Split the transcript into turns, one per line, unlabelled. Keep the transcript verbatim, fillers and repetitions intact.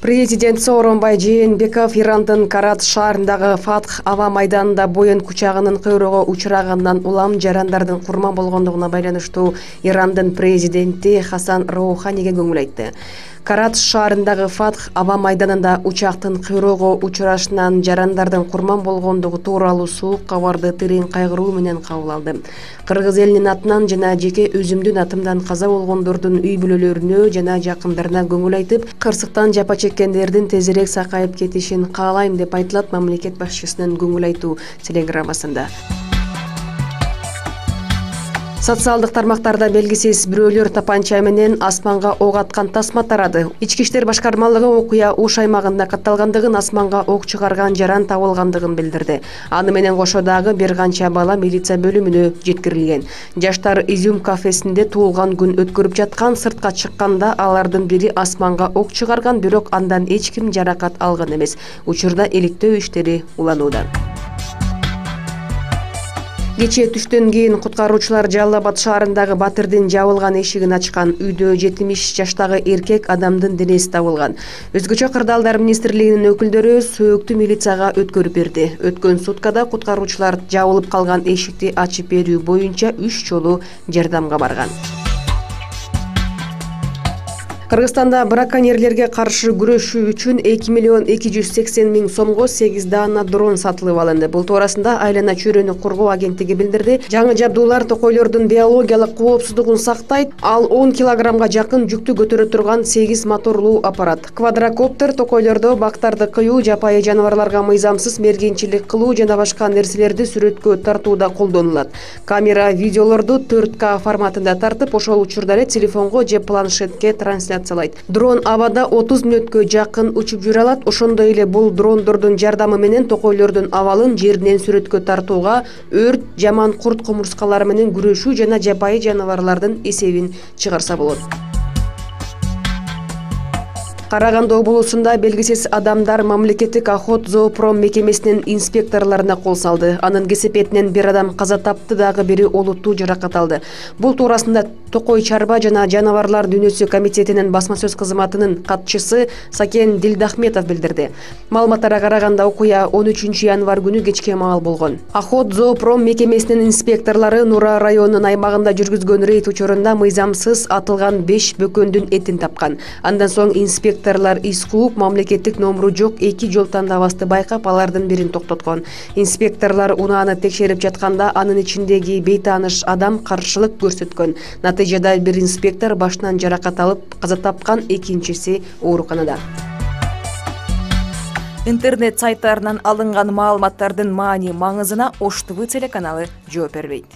Президент Сооронбай Жээнбеков Ирандын Карат шаарындагы Фатх аба майданында боен кучагынын кыйроого учурагандан улам жарандардын курман болгондугуна байланыштуу Ирандын президенти Хасан Роуханиге көңүл айтты. Карат шаарындагы Фатх аба майданында учактын кыйроого учурашынан жарандардын курман болгондугу тууралуу суук кабарды терең кайгыруу менен кабыл алды. Кыргыз элинин атынан жана жеке өзүмдүн атымдан каза болгондордун үй бүлөлөрүнө жана жакындарына көңүл айтып, кырсыктан жапа чеккендердин тезирээк сакайып кетишин каалайм деп айтылат мамлекет башчысынын көңүл айтуу телеграммасында. Социалдык тармактарда белгисиз бирөөлөр тапанча менен асманга ок аткан тасма тарады. Ички иштер башкармалыгы окуя Уш аймагында катталгандыгын, асманга ок чыгарган жаран табылгандыгын билдирди. Аны менен кошо дагы бир канча бала милиция бөлүмүнө жеткирилген. Жаштар Изюм кафесинде туулган күн өткөрүп жаткан, сыртка чыкканда алардын бири асманга ок чыгарган, бирок андан эч ким жаракат алган эмес. Учурда иликтөө иштери уланууда. Кечээ түштөн кийин куткаруучулар Жалал Абад шаарындагы Батырдын жабылган эшигин ачкан. Үйдө жетимиш жаштагы эркек адамдын денеси табылган. Өзгөчө кырдаалдар министрлигинин өкүлдөрү сөөктү милицияга өткөрүп берди. Өткөн суткада куткаруучулар жабылып калган эшикти ачып берүү боюнча үч жолу жардамга барган. Кыргызстанда браконьерлерге каршы күрөшүү үчүн эки миллион эки жүз сексен миң сомго сегиз даана дрон сатылып алынды. Бул туурасында Айлана чөйрөнү коргоо агенттиги билдирди. Жаңы жабдуулар токойлордун биологиялык коопсуздугун сактайт. Ал он килограммга жакын жүктү көтөрө турган сегиз моторлуу аппарат. Квадрокоптер токойлордо бактарды кыюу, жапайы жаныбарларга мыйзамсыз мергенчилик кылуу жана башка нерселерди сүрөткө тартууда колдонулат. Камера видеолорду төрт К форматында тартып, ошол учурда эле телефонго же планшетке трансляция Дрон абада отуз мүнөткө жакын учуп жүрө алат. Ошондой эле бул дрондордун жардамы менен токойлордун абалын жеринен сүрөткө тартууга, өрт, жаман курт кумурскалары менен күрөшүү жана жапайы жаныбарлардын эсебин чыгарса болот. Караганды облусунда белгисиз адамдар мамлекеттик Охотзоопром мекемесинин инспекторлоруна кол салды. Анын кесепетинен бир адам каза тапты, дагы бири олуттуу жаракат алды. Бул туурасында Токой чарба жана жаныбарлар дүйнөсү комитетинин басма сөз кызматынын катчысы Сакен Дилдахметов билдирди. Маалыматтарга караганда окуя он үчүнчү январь күнү кечке маал болгон. Охотзоопром мекемесинин инспекторлору Нура районунун аймагында жүргүзгөн рейд учурунда мыйзамсыз атылган беш бөкөндүн этин тапкан. Андан соң инспектор Инспекторлар из кууп, мамлекеттик номуру жок эки жол тандабасты байкап, алардын бирин токтоткон. Инспекторлор унааны текшерип жатканда анын ичиндеги бейтааныш адам каршылык көрсөткөн. Натыйжада бир инспектор башынан жаракат алып каза тапкан, экинчиси ооруканада. Интернет сайттарынан алынган маалыматтардын маани маңызына Ош ТВ телеканалы жооп бербейт.